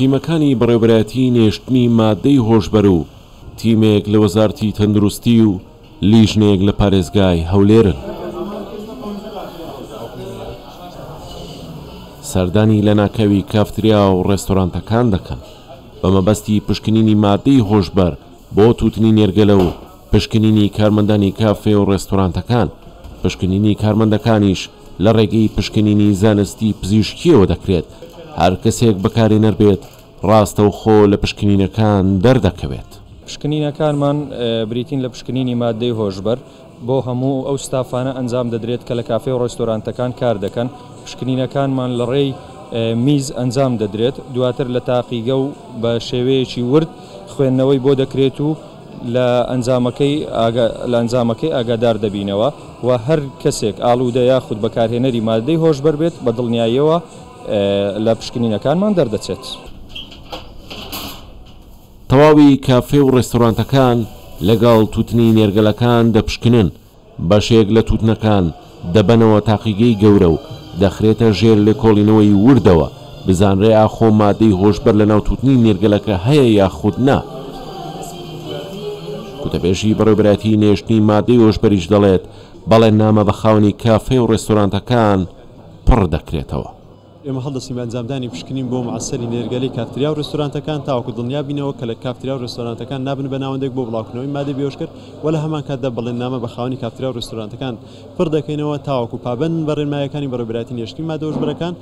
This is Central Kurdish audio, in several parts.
تیمەکانی بەڕێوەبەرایەتی نێشتنی ماددەی هۆشبەر و تیمێک لە وەزارەتی تەندروستی و لیژنەیەک لە پارێزگای هەولێرن. سەردانی لەناکاوی کافتریا و ڕێستۆرانتەکان دەکەن بە مەبەستی پشکنینی ماددەی هۆشبەر بۆ تووتنی نێرگەلە و پشکنینی کارمەندانی کافێ و ڕێستۆرانتەکان، پشکنینی کارمەندەکانیش لە ڕێگەی پشکنینی زانستی پزیشکییەوە دەکرێت، هەر کەسێک بەکارهێنەر بێت ڕاستەوخۆ لە پشکنینەکان دەردەکەوێت. پشکنینەکانمان بریتین لە پشکنینی ماددەی هۆشبەر، بۆ هەموو ئەو ستافانە ئەنجام دەدرێت کە لە کافێ و ڕێستۆرانتەکان کار دەکەن، پشکنینەکانمان لە ڕێی میز ئەنجام دەدرێت، دواتر لە تاقیگە و بە شێوەیەکی ورد خوێندنەوەی بۆ دەکرێت و لە ئەنجامەکەی لە ئەنجامەکەی ئاگادار دەبینەوە و هەر کەسێک ئاڵوودە یاخود بەکارهێنەری ماددەی هۆشبەر بێت بە دڵنیاییەوە لە پشکنینەکانمان دەردەچێت. تەواوی کافێ و ڕێستۆرانتەکان لەگەڵ تووتنی نێرگەلەکان دەپشکنن، بەشێک لە تووتنەکان دەبەنەوە تاقیگەی گەورە و دەخرێتە ژێر لێکۆڵینەوەی وردەوە بزانرێ ئاخۆ مادەی هۆشبەر لەناو تووتنی نێرگەلەکە هەیە یاخود نا. گوتەبێژی بەڕێوەبەرایەتیی نێشتنی مادەی هۆشبەریش دەڵێت، بەڵێننامە بە خاوەنی کافێ و ڕێستۆرانتەکان پڕ دەکرێتەوە. ئێمە هەڵدەستین بە ئەنجامدانی پشکنین بۆ معەسەری نێرگەلەی کافتریا و رێستۆرانتەکان تاوەکو دڵنیا بینەوە کە لە کافتریا و رێستۆرانتەکان نابن بە ناوەندێک بۆ بڵاوکردنەوەی مادەی بێهۆشکەر و لە هەمان کاتدا بەڵێننامە بە خاوەنی کافتریا و رێستۆرانتەکان پڕ دەکەینەوە تاوەکو پابەند بن بە رێنماییەکانی بەڕێوەبەرایەتی نێشتنی مادە هۆشبەرەکان.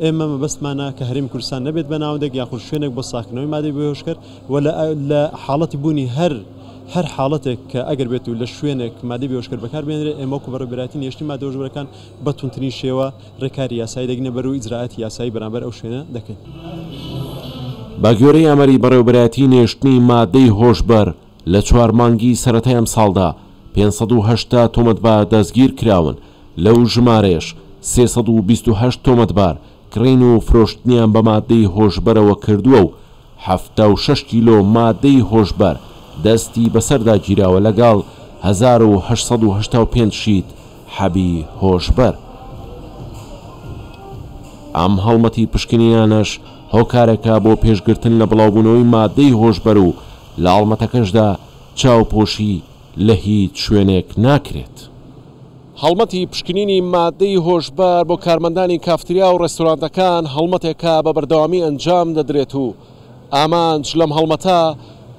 ئێمە مەبەستمانە کە هەرێمی کوردستان نەبێت بە ناوەندێک یاخود شوێنێک بۆ ساغکردنەوەی مادەی بێهۆشکەر و لە حاڵەتی بوونی هەر هەر حاڵەتێک کە ئەگەر بێت و لە شوێنێک مادەی بێهۆشکەر بەکار بهێنرێت ئێمە وەکو بەڕێوەبەرایەتی نێشتنی مادە هۆشبەرەکان بە توندترین شێوە ڕێکاری یاسایی دەگرینە بەر و ئیجرائاتی یاسایی بەرامبەر ئەو شوێنە دەکەین. بەگوێرەی ئاماری بەڕێوەبەرایەتی نێشتنی مادەی هۆشبەر لە چوار مانگی سەرەتای ئەمساڵدا 580 تۆمەتبار دەستگیرکراون، لەو ژمارەیەش 328 تۆمەتبار کڕین و فرۆشتنیان بە مادەی هۆشبەرەوە کردووە و 76 کیلۆ مادەی هۆشبەر دەستی بەسەردا گیراوە لەگەڵ 1885 شیت حەبی هۆشبەر. ئەم هەڵمەتی پشکنینانەش هۆکارێکە بۆ پێشگرتن لە بڵاوبوونەوەی مادەی هۆشبەر و لە هەڵمەتەکەشدا چاوپۆشی لە هیچ شوێنێک ناکرێت. هەڵمەتی پشکنینی مادەی هۆشبەر بۆ کارمەندانی کافتریا و ڕێستورانتەکان هەڵمەتێکە بە بەردەوامی ئەنجام دەدرێت و ئامانج لەم هەڵمەتە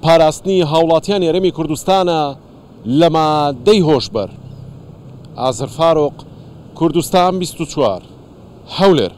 پاراستنی هاوڵاتیانی هەرێمی کوردستانە لە مادەی هۆشبەر. ئازەر فاروق، کوردستان 24، هەولێر.